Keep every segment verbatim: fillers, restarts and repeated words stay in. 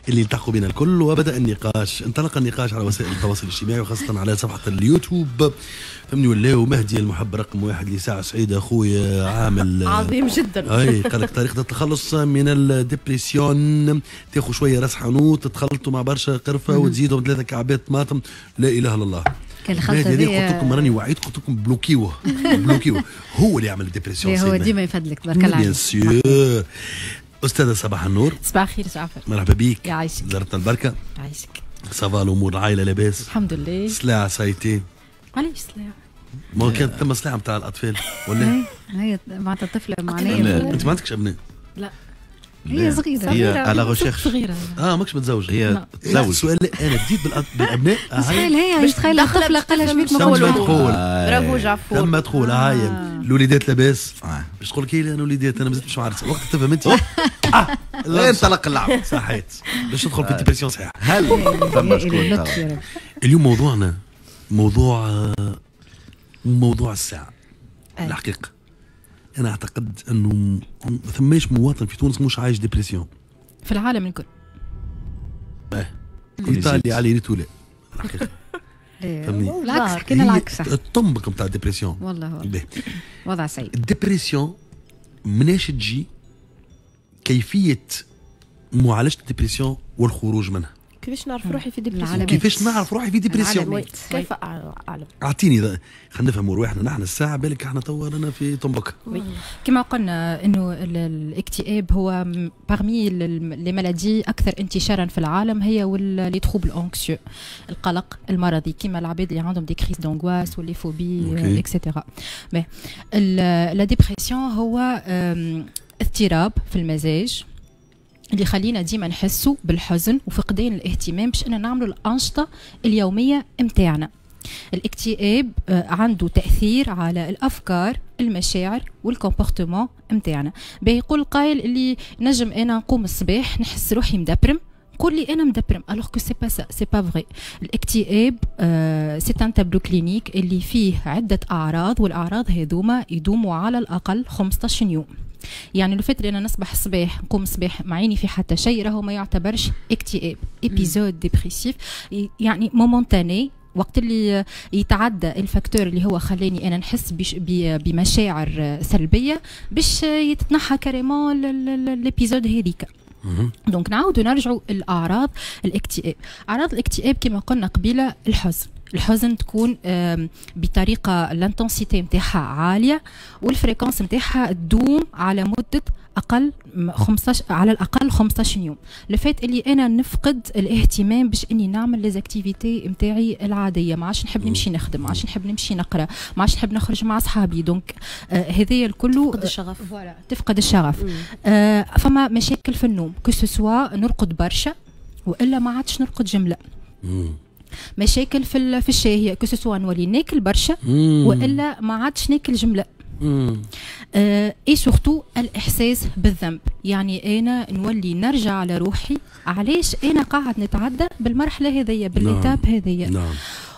اللي التحقوا بنا الكل. وبدا النقاش، انطلق النقاش على وسائل التواصل الاجتماعي وخاصة على صفحة اليوتيوب، فهمني ولاو مهدي المحب رقم واحد لساعة سعيدة اخويا عامل عظيم جدا. اي قال لك طريقه التخلص من ال dépression، تاخذ شوية راس حانوت تخلطوا مع برشا قرفه وتزيدهم ثلاثة كعبات طماطم. لا اله الا الله. كان الخلطة هذه قلت لكم راني وعيت، قلت لكم بلوكيوه بلوكيوه، هو اللي يعمل ال dépression. هو ديما يفدلك، تبارك الله عليك. bien sûr. استاذه صباح النور. صباح الخير جعفر. مرحبا بيك. يعيشك. زرتنا البركه. يعيشك. ça va الامور، العائلة لاباس؟ الحمد لله. سلاعه سايتي. علاش سلاعه؟ ما كانت ثم سلاعه نتاع الاطفال ولا؟ هي معناتها طفله معناها. انت ما عندكش ابناء؟ لا. هي صغيرة. هي à la recherche. صغيرة. اه ماكش متزوجة. هي تزوج. السؤال انا بديت بالابناء. تخيل هي تخيل الطفلة قالها شبيك. ما تقول برافو جعفور. لما تقول هاي الوليدات لاباس، باش تقول لك انا وليدات انا مازلت مش معرس، وقت تفهم انت اه انطلق اللعب. صحيت باش تدخل في ال dépression صحيح. هل ثم شكون؟ اليوم موضوعنا موضوع موضوع الساعة. الحقيقة انا اعتقد انه ما ثماش مواطن في تونس مش عايش dépression. في العالم الكل. اه ايطاليا على ريتو لا الحقيقة. فهمني؟ العكس، حكينا العكس. الطنبك نتاع ال dépression. والله وضع سيء. ال dépression مناش تجي، كيفية معالجة ال dépression والخروج منها. كيفاش نعرف روحي في dépression؟ كيفاش نعرف روحي في dépression؟ كيف اعلم؟ اعطيني خلينا نفهموا رواحنا نحن الساعة، بالك احنا توا رانا في طنبك. كما قلنا انه الاكتئاب هو parmi les maladies اكثر انتشارا في العالم، هي و les troubles anxieux، القلق المرضي، كما العباد اللي عندهم des crises d'angoisse و les phobies et cetera. la dépression هو اضطراب في المزاج اللي يخلينا ديما نحسوا بالحزن وفقدان الاهتمام باش ان نعملوا الانشطة اليومية متاعنا. الاكتئاب عنده تاثير على الافكار، المشاعر وال comportement متاعنا. باهي، يقول القائل اللي نجم انا نقوم الصباح نحس روحي مدبرم، نقول لي انا مدبرم، alors que c'est pas ça، c'est pas vrai. الاكتئاب c'est un tableau clinique اللي فيه عده اعراض، والاعراض هذوما يدوموا على الاقل خمسطاش يوم. يعني لو فات انا نصبح الصباح، نقوم الصباح معيني في حتى شيء، راهو ما يعتبرش اكتئاب، épisode dépressif يعني momentané. وقت اللي يتعدى ال facteur اللي هو خلاني انا نحس بمشاعر سلبيه، باش يتنحى carrément l'épisode هذيك. donc نعاودوا نرجعوا الاعراض الاكتئاب. اعراض الاكتئاب كما قلنا قبيلة الحزن، الحزن تكون بطريقة l'intensité نتاعها عالية وال fréquence نتاعها تدوم على مده اقل خمسطاش، على الاقل خمسطاش يوم. le fait اللي انا نفقد الاهتمام باش اني نعمل les activités نتاعي العاديه، ما عادش نحب نمشي نخدم، ما عادش نحب نمشي نقرا، ما عادش نحب نخرج مع اصحابي. donc آه هذايا الكل تفقد الشغف. voilà، تفقد الشغف. آه فما مشاكل في النوم، que ce soit نرقد برشا والا ما عادش نرقد جمله. مشاكل في في الشهيه، que ce soit نولي ناكل برشا والا ما عادش ناكل جمله. et surtout الاحساس بالذنب، يعني انا نولي نرجع على روحي علاش انا قاعد نتعدى بالمرحلة هذيا، بال étape هذيا. نعم.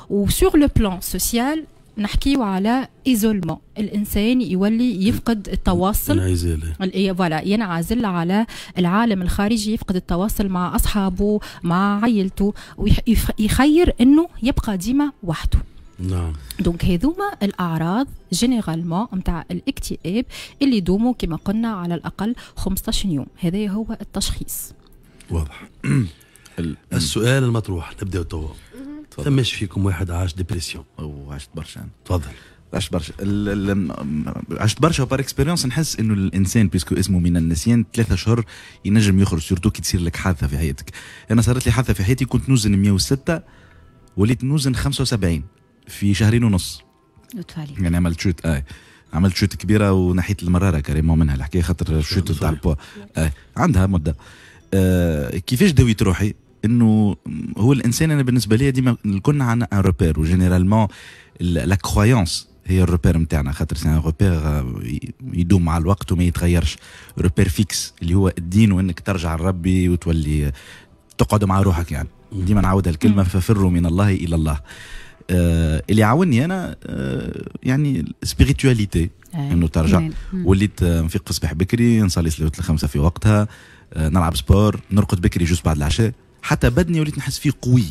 و sur le plan social نحكيو على isolement، الانسان يولي يفقد التواصل، انعزال. voilà، ينعزل على العالم الخارجي، يفقد التواصل مع اصحابه، مع عائلته، ويخير انه يبقى ديما وحده. نعم donc هذوما الاعراض généralement نتاع الاكتئاب اللي يدوموا كما قلنا على الاقل خمسطاش يوم. هذا هو التشخيص. واضح. السؤال المطروح، نبداو توا، ثماش فيكم واحد عاش dépression؟ او عشت برشا. تفضل. عشت برشا، عشت برشا. par expérience نحس انه الانسان puisque اسمه من النسيان، ثلاثة اشهر ينجم يخرج، surtout كي تصير لك حادثه في حياتك. انا صارت لي حادثه في حياتي، كنت نوزن مية وستة وليت نوزن خمسة وسبعين في شهرين ونص. لطف عليك. يعني عملت chute، اه عملت chute كبيرة ونحيت المرارة carrément منها الحكايه، خاطر chute تاع البوا آه عندها مده. آه كيفاش داويت روحي؟ انه هو الانسان، انا بالنسبة لي ديما كنا عندنا un repère، و généralement la croyance هي ال repère نتاعنا، خاطر c'est un repère يدوم مع الوقت وما يتغيرش، repère fixe اللي هو الدين، وانك ترجع لربي وتولي تقعد مع روحك. يعني ديما نعاودها الكلمه، ففروا من الله الى الله. آه اللي عاوني انا آه يعني spiritualité، انه ترجع. وليت نفيق في الصباح بكري، نصلي صلاة الخمسة في وقتها. نلعب sport، نرقد بكري juste بعد العشاء، حتى بدني وليت نحس فيه قوي.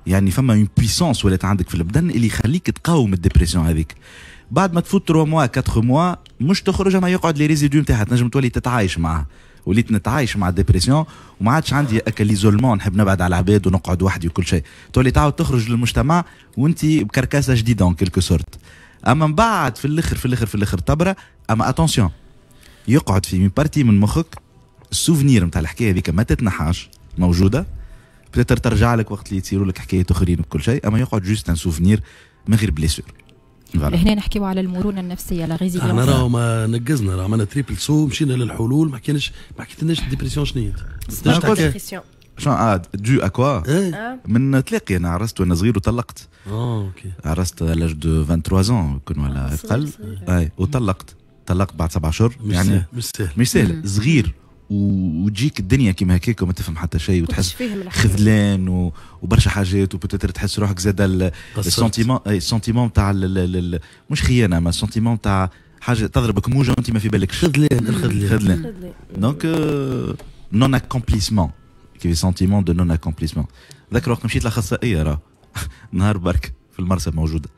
يعني فما une puissance ولات عندك في البدن اللي يخليك تقاوم ال dépression هذيك. بعد ما تفوت ثلاثة mois أربعة mois مش تخرج، اما يقعد les résidus نتاعها، تنجم تولي تتعايش معها. وليت نتعايش مع ال dépression وما عادش عندي اكا l'isolement، نحب نبعد على العباد ونقعد وحدي وكل شيء. تولي تعاود تخرج للمجتمع وانت ب carcasse جديدة en quelque sorte. اما من بعد في الاخر في الاخر في الاخر تبرا. اما attention، يقعد في partie من مخك ال souvenir نتاع الحكاية هذيك ما تتنحاش، موجودة، peut-être ترجع لك وقت اللي يصيروا لك حكايات اخرين وكل شيء، اما يقعد juste un souvenir من غير blessure. هنا نحكيو على المرونة النفسية، la résilience. احنا راهو ما نقزنا، راه عملنا triple saut، مشينا للحلول، ما حكيناش، ما حكيتلناش ال dépression شنو هي. شنو اه dû à quoi؟ من تلاقي انا عرست وانا صغير وطلقت. اه OK. عرست l'âge de ثلاثة وعشرين ans كن ولا اقل، اي وطلقت، طلقت بعد سبع اشهر. يعني مش سهل، مش سهل، صغير وتجيك الدنيا كيما هكاك وما تفهم حتى شيء وتحس خذلان وبرشا حاجات، و peut-être تحس روحك زاد ال sentiment، ال sentiment تاع مش خيانة، ما ال sentiment تاع حاجة تضربك موجه وانت ما في بالكش. خذلان، الخذلان. خذلان. donc non accomplissement، كيف sentiment de non accomplissement. ذاك الوقت مشيت لاخصائيه راه نهار برك في المرسى موجودة،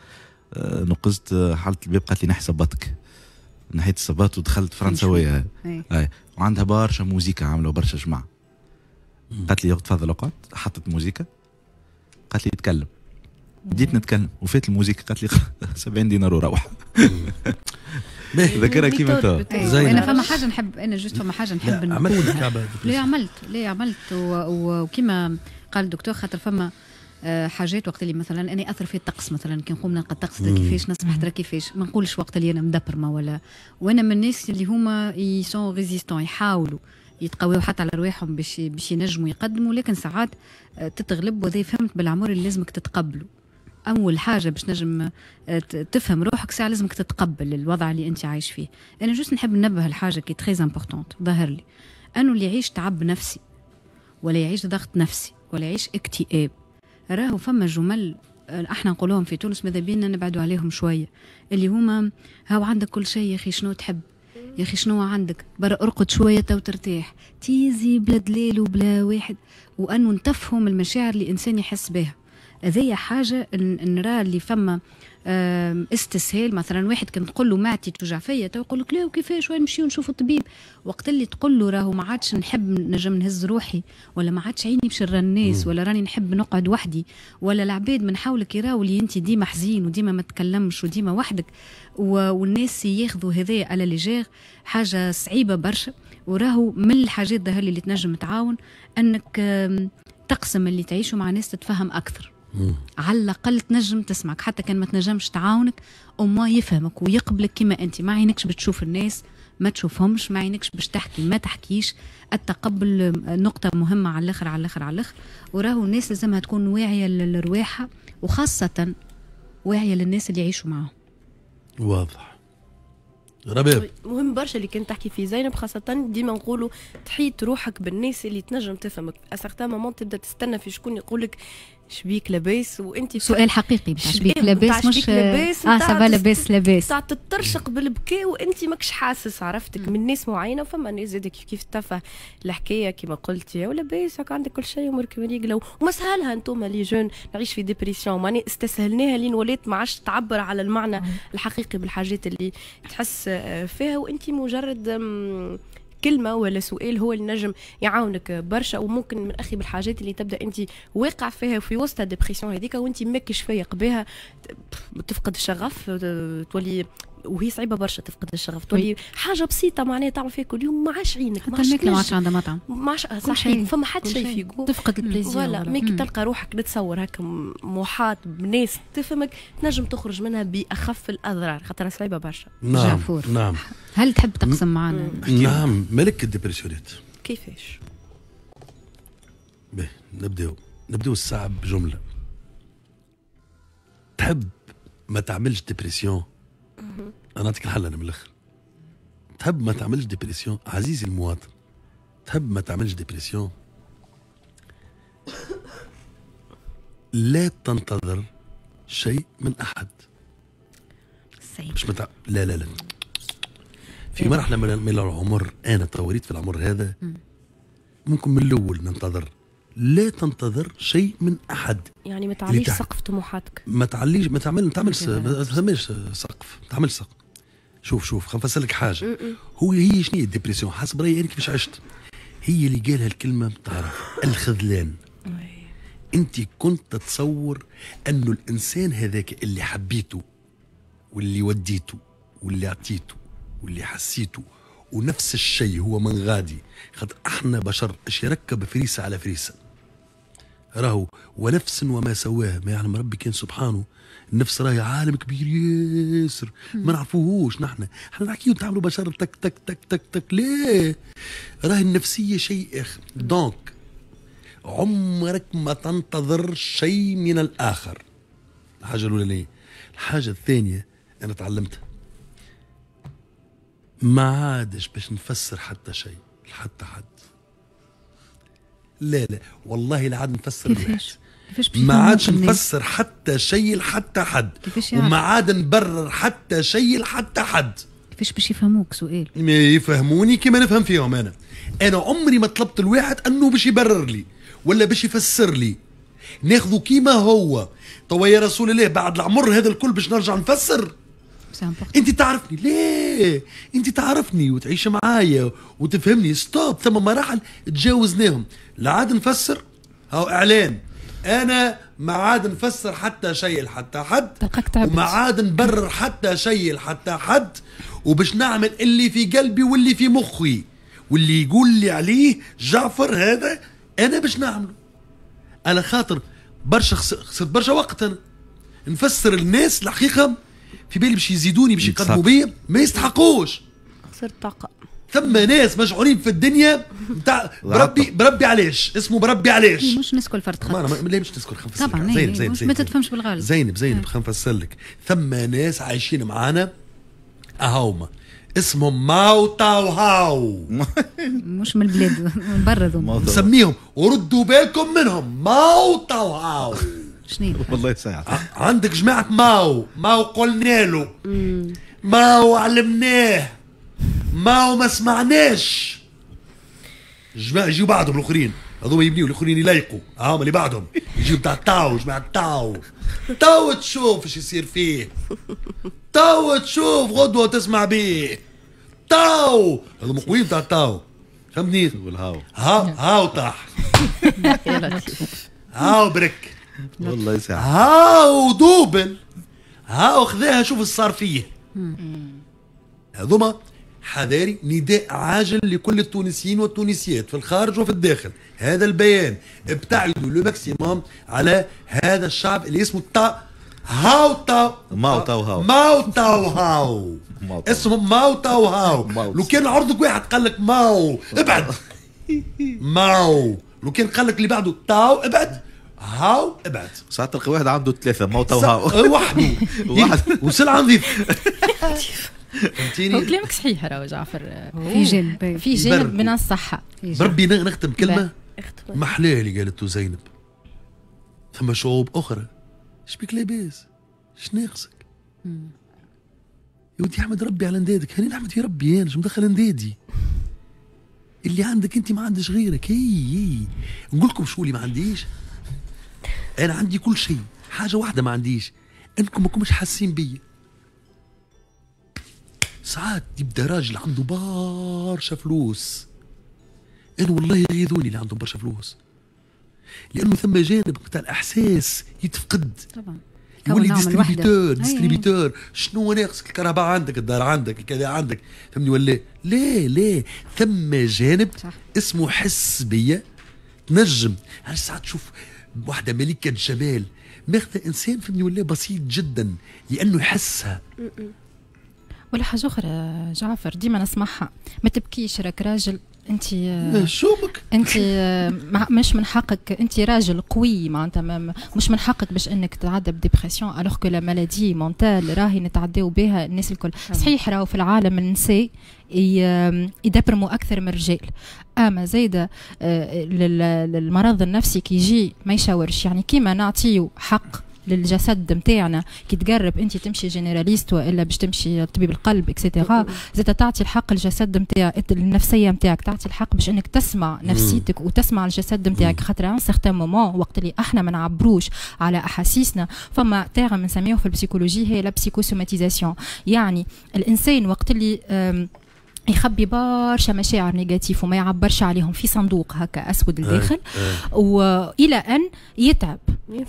نقزت حالة الباب قالت لي نحي صباطك، نحيت الصباط ودخلت فرنساويه اي، وعندها برشا موزيكا عامله برشا جماعة. قالت لي تفضل اقعد، حطت موزيكا، قالت لي تكلم، بديت نتكلم وفات الموزيكا، قالت لي سبعين دينار وروح. ذكرها كيما تو. انا فما حاجة نحب، انا juste فما حاجة نحب نقولها. ليه عملت ليه عملت وكيما قال الدكتور، خاطر فما حاجات وقت اللي مثلا انا اثر في الطقس، مثلا كي نقوم نلقى الطقس كيفاش نصبح ترى كيفاش، ما نقولش وقت اللي انا مدبرمه ولا، وانا من الناس اللي هما ils sont résistants، يحاولوا يتقويوا حتى على رواحهم باش باش ينجموا يقدموا، لكن ساعات تتغلب. وهذا فهمت بالعمر اللي لازمك تتقبله. اول حاجة باش نجم تفهم روحك ساعة لازمك تتقبل الوضع اللي انت عايش فيه. انا juste نحب ننبه الحاجة qui est très importante، ظهر لي انه اللي يعيش تعب نفسي ولا يعيش ضغط نفسي ولا يعيش اكتئاب، راهو فما جمل احنا نقولوهم في تونس ماذا بينا نبعدوا عليهم شوية، اللي هما هاو عندك كل شيء يا اخي شنو تحب، يا اخي شنو عندك، برا ارقد شوية تو ترتاح، تيزي بلا دليل وبلا واحد، وانه نتفهم المشاعر اللي الانسان يحس بها. هذه حاجة نرى اللي فما استسهال. مثلا واحد كان تقول له معدتي توجع فيا تو يقول لك لا وكيفاش وين نمشيو نشوفوا الطبيب. وقت اللي تقول له راهو ما عادش نحب نجم نهز روحي، ولا ما عادش عيني باش نرى الناس، ولا راني نحب نقعد وحدي، ولا العباد من حولك يراو اللي انت ديما حزين وديما ما تكلمش وديما وحدك، والناس ياخذوا هذايا à la légère، حاجة صعيبة برشا. وراهو من الحاجات ظهر اللي تنجم تعاون انك تقسم اللي تعيشه مع ناس تتفهم اكثر. على الاقل تنجم تسمعك، حتى كان ما تنجمش تعاونك au moins يفهمك ويقبلك كما انت. ما عينكش بتشوف الناس ما تشوفهمش، ما عينكش باش تحكي ما تحكيش. التقبل نقطة مهمة على الاخر على الاخر على الاخر. وراهو الناس لازمها تكون واعية لرواحها، وخاصة واعية للناس اللي يعيشوا معاهم. واضح رباب. مهم برشا اللي كنت تحكي فيه زينب، خاصة ديما نقولوا تحيط روحك بالناس اللي تنجم تفهمك. à certains moments تبدا تستنى في شكون يقولك شبيك لاباس، وانت سؤال حقيقي بتاع شبيك لاباس، مش لاباس اه ça va لاباس لاباس، تاع تترشق بالبكاء وانت ماكش حاسس، عرفتك من ناس معينة. وفما ناس زاد كيف كيف تفه الحكاية كيما قلت يا ولاباس هاك عندك كل شيء امورك مريقله وما سهلها. انتم les jeunes نعيش في dépression، ماني استسهلناها لين ولات ما عادش تعبر على المعنى الحقيقي بالحاجات اللي تحس فيها، وانت مجرد كلمة ولا سؤال هو اللي نجم يعاونك برشا. وممكن من اخي بالحاجات اللي تبدا انت واقع فيها في وسط ال dépression هذيك وانت ماكش فايق بها، تفقد الشغف، تولي وهي صعيبة برشا تفقد الشغف، تولي حاجة بسيطة معناها تعمل فيها كل يوم ما عادش عينك، حتى الماكلة ما عادش عندها مطعم، ما عادش صحيح، فما حتى شيء في جو، تفقد ال plaisir. voilà، mais كي تلقى روحك نتصور هكا محاط بناس تفهمك تنجم تخرج منها باخف الاضرار، خاطر صعيبة برشا. نعم جعفور. نعم، هل تحب تقسم معنا؟ نعم، ملك ال dépression ات كيفاش؟ باهي نبداو نبداو الساعة بجملة. تحب ما تعملش dépression؟ انا نعطيك الحل انا من الاخر. تحب ما تعملش dépression عزيزي المواطن، تحب ما تعملش dépression، لا تنتظر شيء من احد. مش متع... لا لا لا في مرحلة من العمر، انا توريت في العمر هذا ممكن من الاول ننتظر. لا تنتظر شيء من احد. يعني ما تعليش سقف طموحاتك. ما تعليش، ما تعمل ما تعملش، ما تعملش سقف، ما تعملش سقف. شوف شوف خلينا نفسر لك حاجة. هو هي شنو هي ال dépression حسب رايي انا كيفاش عشت؟ هي اللي قالها الكلمة تعرف الخذلان. انت كنت تتصور انه الانسان هذاك اللي حبيته واللي وديته واللي اعطيته واللي حسيته ونفس الشيء هو من غادي، خاطر احنا بشر اش يركب فريسة على فريسة. راهو ونفس وما سواها، ما يعلم ربي كان سبحانه. النفس راهي عالم كبير ياسر ما نعرفوهوش نحن، احنا نحكيو نتعاملوا بشر تك تك تك تك تك، ليه؟ راهي النفسية شيء اخر. donc عمرك ما تنتظر شيء من الاخر. الحاجة الاولانية. الحاجة الثانية انا تعلمتها، ما عادش باش نفسر حتى شيء لحتى حد. لا لا والله لا عاد نفسر. كيفاش؟ كيفاش ما عادش نفسر حتى شيء لحتى حد، وما عاد نبرر حتى شيء لحتى حد. كيفاش باش يفهموك؟ سؤال. ما يفهموني كيما نفهم فيهم انا. انا عمري ما طلبت الواحد انه باش يبرر لي ولا باش يفسر لي، ناخذه كيما هو. توا يا رسول الله بعد العمر هذا الكل باش نرجع نفسر؟ انت تعرفني ليه؟ انت تعرفني وتعيش معايا وتفهمني. stop، ثم مراحل تجاوزناهم. لا عاد نفسر. هاو اعلان، انا ما عاد نفسر حتى شيء لحتى حد، وما عاد نبرر حتى شيء لحتى حد، وباش نعمل اللي في قلبي واللي في مخي واللي يقول لي عليه جعفر هذا انا باش نعمله. على خاطر برشا خسرت برشا وقت انا نفسر الناس الحقيقة في بالي باش يزيدوني باش يقدموا بيا، ما يستحقوش. خسرت طاقة. ثم ناس مشعورين في الدنيا نتاع بربي بربي علاش اسمه بربي علاش. مش نسكل فرد خط. ما لا مش نسكل خلينا طبعا. زينب زينب زينب ما تتفهمش بالغالب. زينب زينب خلينا نفسر لك. ثم ناس عايشين معانا اهوما اسمهم ماو تاو هاو. مش من البلاد، من برا ذوما نسميهم، وردوا بالكم منهم، ماو تاو هاو. شنو والله يساعد. عندك جماعة ماو ماو قلنا له، ماو علمناه، ماو ما سمعناش. جماعة يجيو بعدهم الاخرين، هذوما يبنيو الاخرين يلايقوا، هاهم اللي بعدهم يجيو تاع تاو، جماعة تاو تاو تشوف ايش يصير فيه، تاو تشوف غدوة تسمع بيه تاو. هذوما قويين تاع تاو، فهمتني؟ والهاو هاو هاو طاح، هاو برك، والله يساعد، هاو double، هاو خذاها شوف ايش صار فيه. هذوما حذاري، نداء عاجل لكل التونسيين والتونسيات في الخارج وفي الداخل. هذا البيان، ابتعدوا le maximum على هذا الشعب اللي اسمه تا هاو تا ماو تاو هاو ماو تاو هاو، اسمه ماو تاو هاو. لو كان عرضك واحد قال لك ماو ابعد، ماو. لو كان قال لك اللي بعده تاو ابعد، هاو ابعد. ساعات تلقى واحد عنده ثلاثة ماو تاو هاو وحده وسلعة نظيف. فهمتيني؟ هو كلامك صحيح راهو جعفر، في جانب في جانب من الصحة. بربي نختم كلمة محلاه اللي قالته زينب. ثم شعوب أخرى شبيك لاباس، شناقصك؟ يا ودي احمد ربي على اندادك، هاني نحمد في ربي انا، شو مدخل اندادي؟ اللي عندك انت ما عندش غيرك. هي هي نقول لكم شو اللي ما عنديش؟ انا عندي كل شيء، حاجة واحدة ما عنديش، انكم ما كنتش حاسين بيا. ساعات يبدا راجل عنده برشا فلوس، انا والله يغيظوني اللي عندهم برشا فلوس، لانه ثم جانب نتاع الاحساس يتفقد. طبعا يولي distributeur distributeur، شنو ناقصك؟ الكهرباء عندك، الدار عندك، الكذا عندك، فهمني ولا لا؟ لا، ثم جانب صح. اسمه حس بيا. تنجم علاش ساعات تشوف واحدة ملكه جمال ماخذه انسان فهمني ولا بسيط جدا لانه يحسها. ولا حاجة اخرى جعفر ديما نسمعها، ما تبكيش راك راجل انت، شومك انت مش من حقك، انت راجل قوي معناتها مش من حقك باش انك تتعدى ب dépression، alors que la maladie mentale راهي نتعداو بها الناس الكل. صحيح راهو في العالم النساء يدبرموا اكثر من الرجال، اما زايدة المرض النفسي كي يجي ما يشاورش، يعني كيما نعطيو حق للجسد نتاعنا. كي تقرب انت تمشي généraliste والا باش تمشي طبيب القلب et cetera، زاد تعطي الحق الجسد نتاعك، النفسية نتاعك، تعطي الحق باش انك تسمع نفسيتك وتسمع الجسد نتاعك، خاطر un certain moment وقت اللي احنا ما نعبروش على احاسيسنا، فما terme نسميه في ال psychologie هي la psychosomatisation. يعني الانسان وقت اللي يخبي برشا مشاعر négatives وما يعبرش عليهم في صندوق هكا اسود الداخل، والى ان يتعب،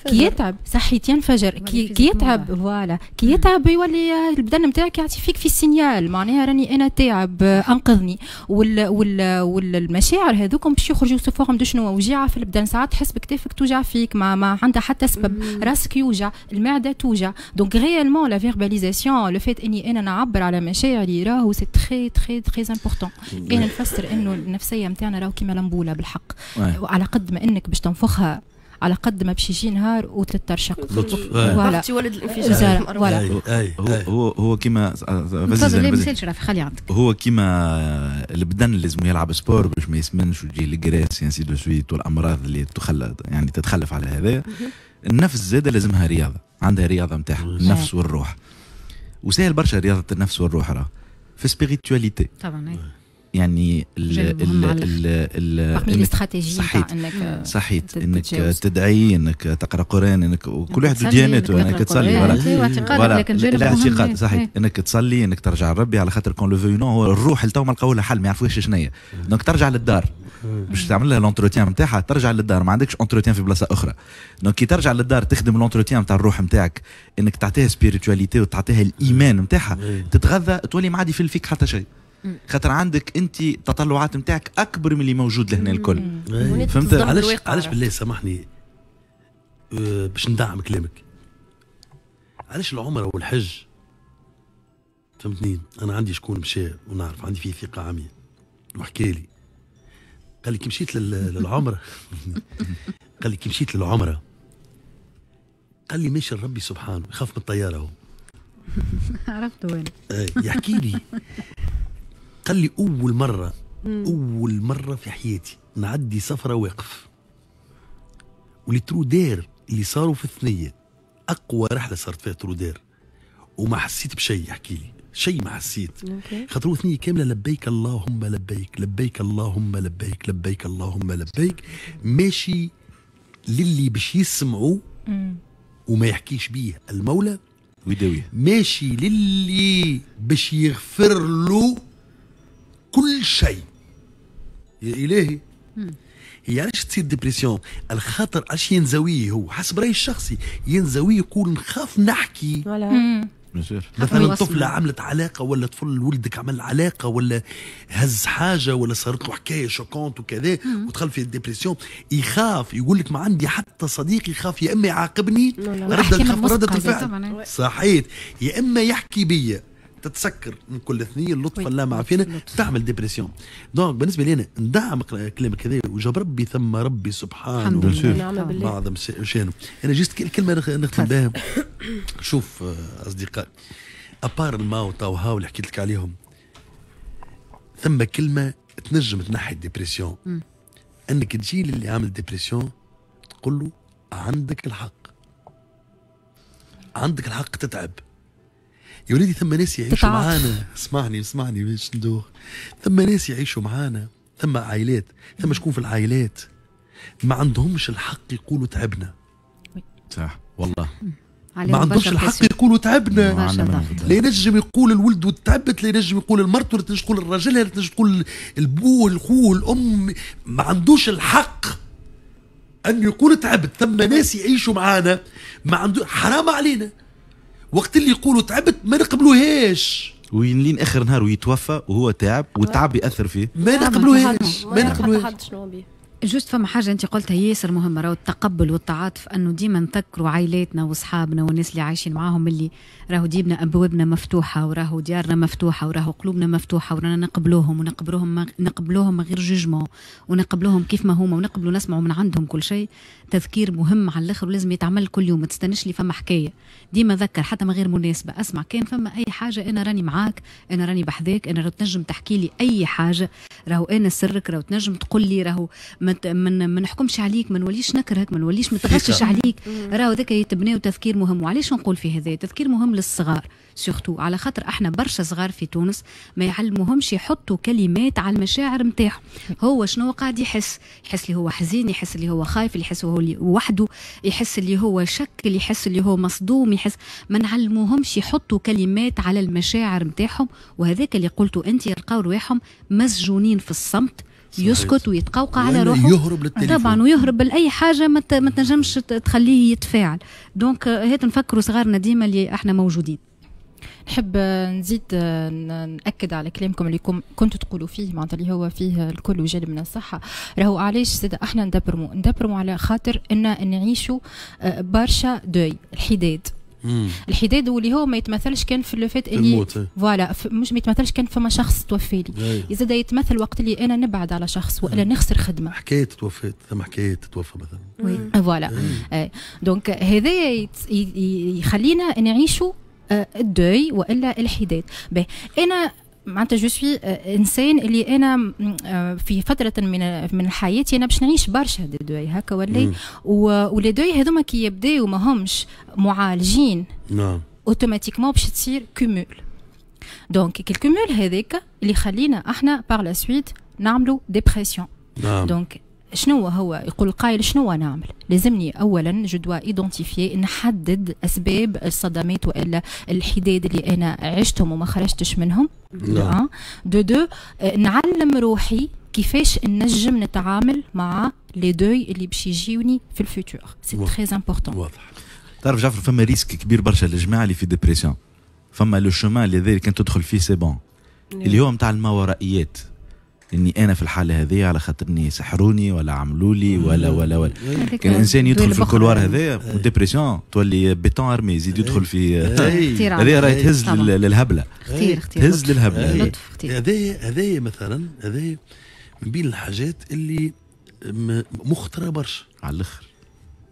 كي يتعب صحيت ينفجر، كي, كي يتعب voilà، كي يتعب يولي البدن نتاعك يعطي فيك في signal، معناها راني انا تعب انقذني. وال وال والمشاعر هذوكم باش يخرجوا sous forme de شنو؟ وجيعه في البدن، ساعات تحس بكتافك توجع فيك ما, ما عندها حتى سبب، راسك يوجع، المعدة توجع. donc réellement la verbalisation، le fait اني انا نعبر على مشاعري راهو c'est très très très important. انا نفسر انه النفسية نتاعنا راهو كيما l'ampoule بالحق، وعلى قد ما انك باش تنفخها على قد ما باش يجي نهار وتترشق. voilà، ولد الانفجار. voilà، هو هو هو كيما خلي عندك، هو كيما البدن لازم يلعب sport باش ما يسمنش وتجي ال graisse ainsi de suite والامراض اللي تخلى يعني تتخلف على هذا. النفس زاده لازمها رياضه، عندها رياضة نتاعها النفس والروح، وسهل برشا رياضة النفس والروح راه في spiritualité طبعا. يعني ال ال ال ال صحيت انك صحيت انك تدعي، انك تقرا قران، انك كل واحد وديانته، انك تصلي، voilà الاعتقاد صحيت، انك تصلي، انك ترجع لربي، على خاطر qu'on le veuille ou non هو الروح اللي تو ما لقاو لها حل، ما يعرفوش شنو هي. donc ترجع للدار باش تعمل لها l'entretien نتاعها، ترجع للدار، ما عندكش entretien في بلاصة اخرى. donc كي ترجع للدار تخدم l'entretien نتاع الروح نتاعك، انك تعطيها spiritualité وتعطيها الايمان نتاعها، تتغذى، تولي ما عاد يفل فيك حتى شيء، خاطر عندك انت التطلعات نتاعك اكبر من اللي موجود لهنا الكل. فهمت علاش؟ علاش بالله سامحني أه باش ندعم كلامك، علاش العمرة والحج؟ فهمتني، انا عندي شكون مشى ونعرف عندي فيه ثقة عمياء، وحكى لي قال لي كي مشيت للعمرة قال لي كي مشيت للعمرة قال لي ماشي لربي سبحانه، يخاف من الطيارة هو. عرفت وين يحكي لي قال لي اول مرة اول مرة في حياتي نعدي سفره واقف، و les trous d'air اللي صاروا في الثنية اقوى رحله صارت فيها trou d'air، وما حسيت بشيء. يحكي لي شيء ما حسيت، خاطر ثنيه كاملة لبيك اللهم لبيك، لبيك اللهم لبيك، لبيك اللهم لبيك، ماشي للي باش يسمعوا وما يحكيش بيه المولى ويداويه، ماشي للي باش يغفر له كل شيء. يا الهي، هي علاش تصير dépression؟ الخاطر علاش ينزويه هو حسب رايي الشخصي ينزويه، يقول نخاف نحكي. مثلا طفلة عملت علاقة، ولا طفل ولدك عمل علاقة، ولا هز حاجة، ولا صارت له حكاية choquante وكذا، ودخل في ال dépression، يخاف يقول لك ما عندي حتى صديق، يخاف يا اما يعاقبني ردة ردة الفعل صحيت، يا اما يحكي بيا تتسكر من كل ثنيه، اللطف الله ما عافينا تعمل dépression. donc بالنسبة لي انا ندعم كلامك هذا، وجاب ربي ثم ربي سبحانه بعظم شانه. انا juste الكلمة نختم بها. شوف اصدقائي، à part الماو تاو هاو اللي حكيت لك عليهم، ثم كلمة تنجم تنحي ال dépression، انك تجي للي عامل dépression تقول له عندك الحق، عندك الحق تتعب يا وليدي. ثم ناس يعيشوا معانا، اسمعني اسمعني باش ندوخ، ثم ناس يعيشوا معانا، ثم عائلات، ثم شكون في العائلات ما عندهمش الحق يقولوا تعبنا. صح والله، ما عندهمش الحق يقولوا تعبنا. لا ينجم يقول الولد وتعبت، لا ينجم يقول المرته، لا تنجم تقول الراجل، لا تنجم تقول البو الخو الام، ما عندوش الحق ان يقول تعبت. ثم ناس يعيشوا معانا ما عنده، حرام علينا وقت اللي يقولوا تعبت ما نقبلوهاش، وين اخر نهار ويتوفى وهو تعب والتعب ياثر فيه، ما نقبلوهاش، ما نقبلوهاش. juste فما حاجة انت قلتها ياسر مهمة، راهو التقبل والتعاطف، انه ديما نذكروا عائلاتنا واصحابنا والناس اللي عايشين معاهم اللي راهو ديما ابوابنا مفتوحة، وراهو ديارنا مفتوحة، وراهو قلوبنا مفتوحة، ورانا نقبلوهم ونقبلوهم نقبلوهم من غير jugement، ونقبلوهم كيف ما هما، ونقبلوا نسمعوا من عندهم كل شيء. تذكير مهم على الاخر ولازم يتعمل كل يوم، ما تستناش لي فما حكاية، ديما ذكر حتى من غير مناسبة، اسمع كان فما اي حاجة انا راني معاك، انا راني بحذاك، انا راهو تنجم تحكي لي اي حاجة، راهو انا سرك، راهو تنجم تقول لي، راهو ما ما نحكمش عليك، ما نوليش نكرهك، ما نوليش متغشش عليك. راهو ذاك يتبناو تفكير مهم. وعلاش نقول في هذا تفكير مهم للصغار surtout، على خاطر احنا برشا صغار في تونس ما يعلموهمش يحطوا كلمات على المشاعر نتاعهم. هو شنو قاعد يحس؟ يحس اللي هو حزين، يحس اللي هو خايف، اللي يحس هو اللي وحده، يحس اللي هو شك، اللي يحس اللي هو مصدوم، يحس. ما نعلموهمش يحطوا كلمات على المشاعر نتاعهم. وهذاك اللي قلته انت، يلقاو رواحهم مسجونين في الصمت، يسكت ويتقوقع على روحه، يهرب للتليفون طبعا، ويهرب لاي حاجة ما تنجمش تخليه يتفاعل. donc هات نفكروا صغارنا ديما اللي احنا موجودين. نحب نزيد نأكد على كلامكم اللي كنتوا تقولوا فيه، معناتها اللي هو فيه الكل وجانب من الصحة. راهو علاش زاد احنا ندبرمو ندبرمو على خاطر ان نعيشوا برشا deuil، الحداد. مم. الحداد واللي هو ما يتمثلش كان في le fait اللي voilà، مش ما يتمثلش كان فما شخص توفى لي، زاد يتمثل وقت اللي انا نبعد على شخص والا نخسر خدمة، حكاية توفيت، ثم حكاية تتوفى مثلا. voilà، donc هذا يخلينا نعيشوا ال deuil والا الحداد. باهي انا معناتها je suis انسان اللي انا في فترة من من حياتي انا باش نعيش برشا des deuils هكا ولا، و les deuils هذوما كي يبداو ما همش معالجين نعم automatiquement باش تصير cumul. donc ال cumul هذاك اللي يخلينا احنا par la suite نعملوا dépression. نعم. donc شنو هو يقول القائل شنو نعمل؟ لازمني اولا je dois identifier، نحدد اسباب الصدمات والا الحداد اللي انا عشتهم وما خرجتش منهم. نعم. de deux نعلم روحي كيفاش نجم نتعامل مع les deuils اللي باش يجيوني في ال futur. c'est très important. واضح. تعرف جعفر فما risque كبير برشا للجماعة اللي في dépression، فما le chemin اللي ذلك كان تدخل فيه c'est bon، اللي هو نتاع الماورائيات، اني انا في الحالة هذه على خاطرني سحروني ولا عملوا لي ولا ولا ولا. كان الانسان يدخل في ال couloir هذايا و dépression تولي béton armé، يزيد يدخل في هذه راهي تهز للهبله، خطير خطير، تهز للهبله. هذايا هذايا مثلا هذايا من بين الحاجات اللي مخطره برشا على الاخر،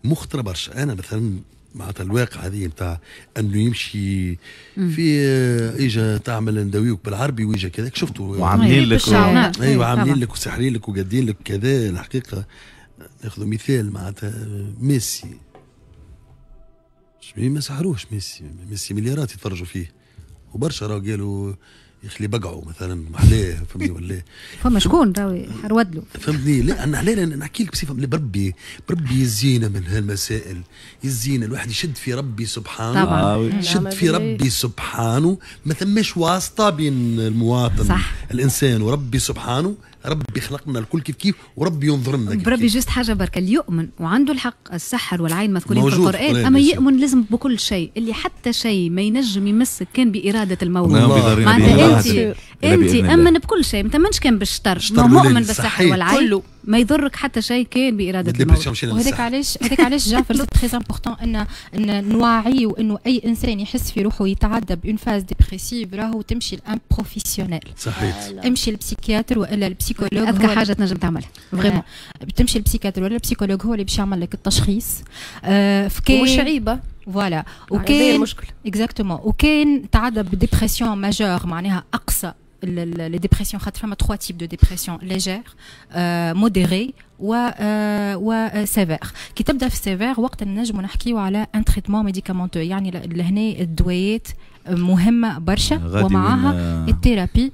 مخطره برشا. انا مثلا معناتها الواقع هذه نتاع انه يمشي في اجا تعمل نداويوك بالعربي ويجا كذا، شفتوا وعاملين لك و... ايوه عاملين لك وسحرين لك وقادين لك كذا. الحقيقة ناخذ مثال معناتها ميسي، ما سحروش ميسي، ميسي مليارات يتفرجوا فيه وبرشا راهو قالوا يخلي بقعوا مثلا محلاه، فهمني ولا فما شكون راهو حرود له، فهمتني؟ لا انا لا نحكي لك بصفة بربي بربي يزينا من هالمسائل، يزينا الواحد يشد في ربي سبحانه. طبعا يشد في ربي سبحانه، ما ثماش واسطه بين المواطن صح. الانسان وربي سبحانه، ربي خلقنا الكل كيف كيف وربي ينظر لنا كيف بربي. كيف. juste حاجة بركة، اللي يؤمن وعنده الحق، السحر والعين مذكورين في القران، اما يؤمن لازم بكل شيء، اللي حتى شيء ما ينجم يمسك كان باراده المولى. معناتها انت انت امن بكل شيء، ما تامنش كان بالشطر، مؤمن بالسحر والعين ما يضرك حتى شيء كان باراده المولى. وهذاك علاش هذاك علاش جعفر c'est très important ان ان نوعي وانه اي انسان يحس في روحه يتعدى ب une phase dépressive راهو تمشي ل un professionnel. صحيح، امشي لل psychiatre والا ال psychologue، اذكى حاجة تنجم تعملها vraiment. تمشي لل psychiatre ولا ال psychologue هو اللي باش يعمل لك التشخيص. آه مش عيبه voilà. وكان المشكل exactement، وكان تعدى ب dépression majeure معناها اقصى les dépressions، خاطر فما trois types de dépression، légère modérée و و sévère. كي تبدا في sévère وقت نجمو نحكيو على un traitement médicamenteux، يعني لهنا الدويات مهمة برشا ومعاها ال thérapie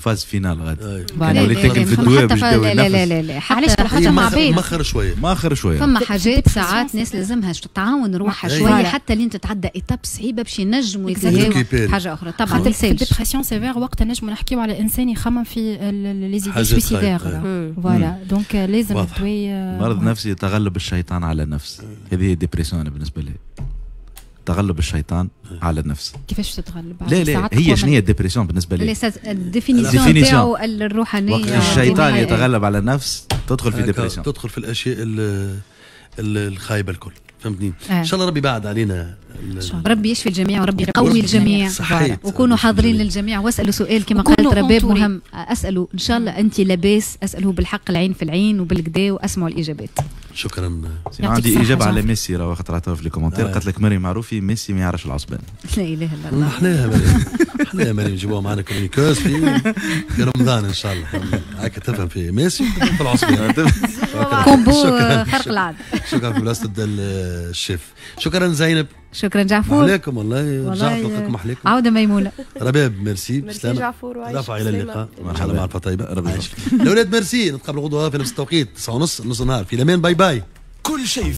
phase finale غادي. كان وليت تاكل في الدواء باش تداوي لا لا لا لا علاش؟ خاطر مع بعض مخر شوية، مخر شوية. فما حاجات ساعات ناس لازمها تعاون روحها شوية حتى لين تتعدى étape صعيبة باش ينجموا يتلهاو حاجة اخرى. طبعا خاطر في dépression sévère وقتها نجموا نحكيو على انسان يخمم في les idées suicidaires. voilà donc لازم الدواء. مرض نفسي تغلب الشيطان على النفس، هذه هي dépression بالنسبة لي، تغلب الشيطان على النفس. كيفاش تتغلب؟ لا لا هي شنو هي ال dépression بالنسبة لي؟ ال définition تاعو الروحانية، وقت الشيطان يتغلب على النفس تدخل في dépression، تدخل في الاشياء الخايبة الكل، فهمتني؟ ان شاء الله ربي بعد علينا، ربي يشفي الجميع وربي يقوي الجميع، وكونوا حاضرين للجميع واسالوا سؤال كما قالت رباب مهم، اسالوا ان شاء الله انت لاباس، اسالوه بالحق العين في العين وبالكدا واسمعوا الاجابات. شكرا. عندي اجابه على ميسي راه خاطر عطاها في les commentaires، قالت لك مريم معروفي ميسي ما يعرفش العصبان. لا اله الا الله. احنا مريم، احنا مريم نجيبوها معنا chroniqueuse في في رمضان ان شاء الله، هكا تفهم في ميسي وتفهم في العصبان. combo خرق العادة. شكرا في بلاصة الشيف. شكرا زينب. شكرا جعفور. عليكم والله رجعت لقاكم احليكم. عوده ميمونة. رباب ميرسي. ميرسي جعفور. رفع الى اللقاء ان شاء الله معرفة طيبة. ربي يعيشك. الاولاد ميرسي، نتقابل غدوه في نفس التوقيت تسعة ونص نص النهار في الامان. bye bye. كل شيء.